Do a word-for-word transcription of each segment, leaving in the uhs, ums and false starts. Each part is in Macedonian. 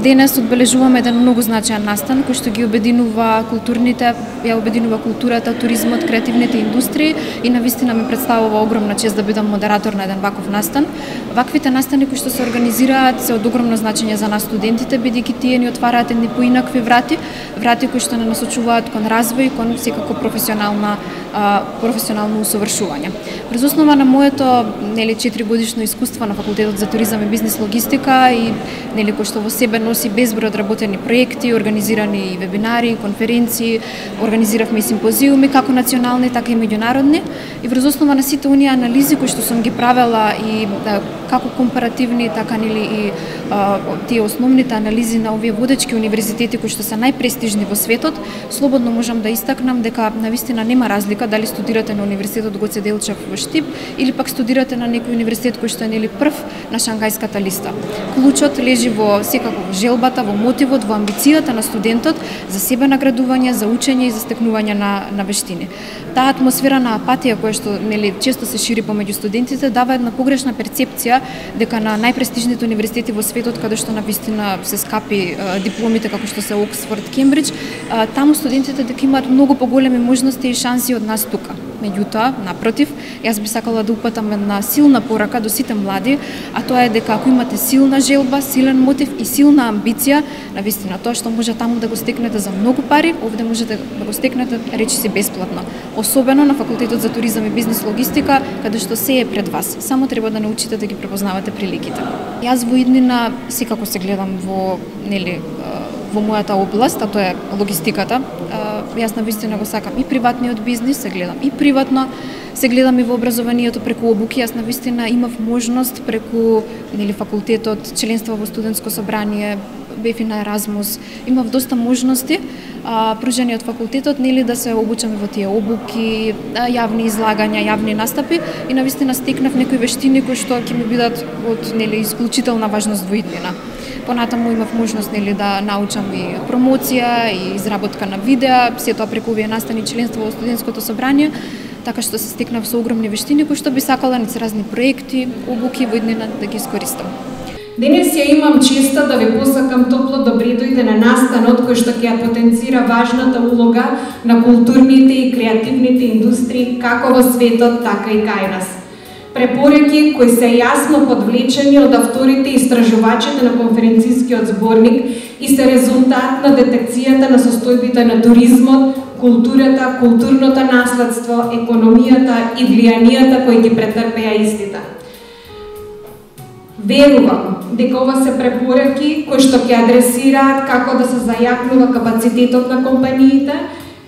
Денес одбележуваме еден многу значаен настан кој што ги обединува културните, ја обединува културата, туризмот, креативните индустрии и навистина ми представува огромна чест да бидам модератор на еден ваков настан. Ваквите настани кои што се организираат се од огромно значење за нас студентите, бидејќи тие ни отвараат едни поинакви врати, врати кои што не насочуваат кон развој, кон секако професионална професионално усовршување. Врз основа на моето нели четири годишно искуство на факултетот за туризам и бизнис логистика и нели кој што во себе носи безброј одработени проекти, организирани и вебинари, конференции, организиравме и симпозиуми како национални така и меѓународни и врз основа на сите оние анализи кои што сум ги правела и да, како компаративни така нели и а, тие основните анализи на овие водечки универзитети кои што се најпрестижни во светот, слободно можам да истакнам дека навистина нема разлика дали студирате на универзитетот Гоце Делчев во Штип или пак студирате на некој универзитет кој што е нели прв на шангајската листа. Клучот лежи во секако во желбата, во мотивот, во амбицијата на студентот за себе наградување, за учење и за стекнување на на вештини. Таа атмосфера на апатија која што нели често се шири помеѓу студентите дава една погрешна перцепција дека на најпрестижните универзитети во светот каде што навистина се скапи а, дипломите како што се Оксфорд, Кембридж, а, таму студентите дека имаат многу поголеми можности и шанси од нас тука. Меѓутоа, напротив, јас би сакала да упатам една силна порака до сите млади, а тоа е дека ако имате силна желба, силен мотив и силна амбиција, навистина тоа што може таму да го стекнете за многу пари, овде можете да го стекнете речиси бесплатно. Особено на факултетот за туризам и бизнис логистика, каде што се е пред вас. Само треба да научите да ги препознавате приликите. Јас во иднина секако се гледам во нели во мојата област, а тоа е логистиката. Јас навистина го сакам и приватниот бизнис, се гледам и приватно, се гледам и во образованието преку обуки. Јас навистина имав можност преку нели факултетот, членство во студентско собрание, бев и на Еразмус, имав доста можности а, пружени од факултетот нели да се обучаме во тие обуки, јавни излагања, јавни настапи и навистина стекнав некои вештини кои што ќе ми бидат од нели исклучителна важност во иднина. Понатаму имав можност нели да научам и промоција и изработка на видеа, се тоа преку овие настани, членство во студентското собрание, така што се стекнав со огромни вештини кои што би сакала ниц разни проекти, обуки во иднина да ги искористам. Денес ја имам честа да ви посакам топло добре дојде на настанот кој што ќе ја потенцира важната улога на културните и креативните индустрии како во светот, така и кај нас. Препораки кои се јасно подвлечени од авторите и истражувачите на конференцискиот зборник и се резултат на детекцијата на состојбите на туризмот, културата, културното наследство, економијата и влијанијата кои ги претрпеа истите. Верувам дека ова се препораки кои што ќе адресираат како да се зајакнува капацитетот на компаниите,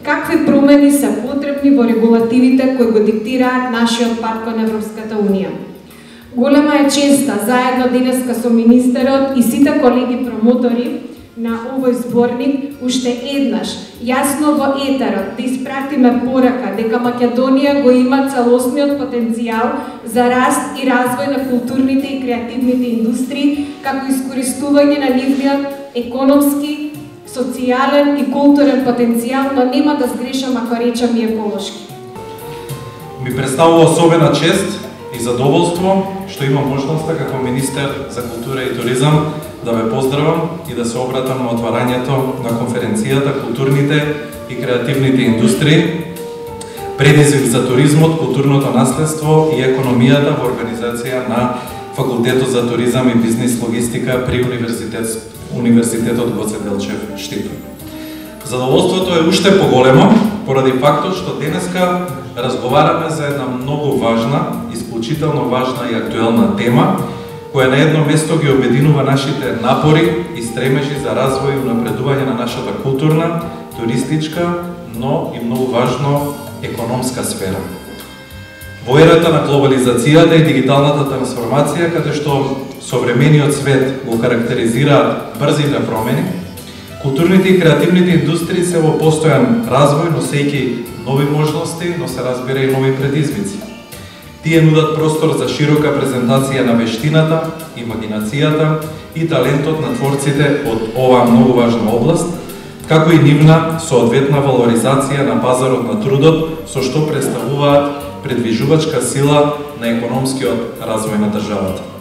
какви промени се потребни во регулативите кои го диктираат нашиот пат кон Европската Унија. Голема е честа заедно денеска со министерот и сите колеги промотори на овој зборник уште еднаш јасно во етерот да испратиме порака дека Македонија го има целосниот потенцијал за раст и развој на културните и креативните индустрии, како искористување на нивниот економски, социјален и културен потенцијал, но нема да сгрешам ако речам и еколошки. Ми представува особена чест и задоволство што имам можноста како министер за култура и туризам да ве поздравам и да се обратам на отварањето на конференцијата Културните и креативните индустрии, предизвик за туризмот, културното наследство и економијата во организација на Факултетот за туризам и бизнис логистика при универзитет Универзитетот Гоце Делчев Штип. Задоволството е уште поголемо поради фактот што денеска разговараме за една многу важна, исклучително важна и актуелна тема, која на едно место ги обединува нашите напори и стремежи за развој и унапредување на нашата културна, туристичка, но и многу важно економска сфера. Во ерата на глобализацијата и дигиталната трансформација, каде што современиот свет го карактеризираат брзите промени, културните и креативните индустрии се во постојан развој, носејќи нови можности, но се разбира и нови предизвици. Тие нудат простор за широка презентација на вештината, имагинацијата и талентот на творците од оваа многу важна област, како и нивна соодветна валоризација на пазарот на трудот, со што представуваат предвижувачка сила на економскиот развој на државата.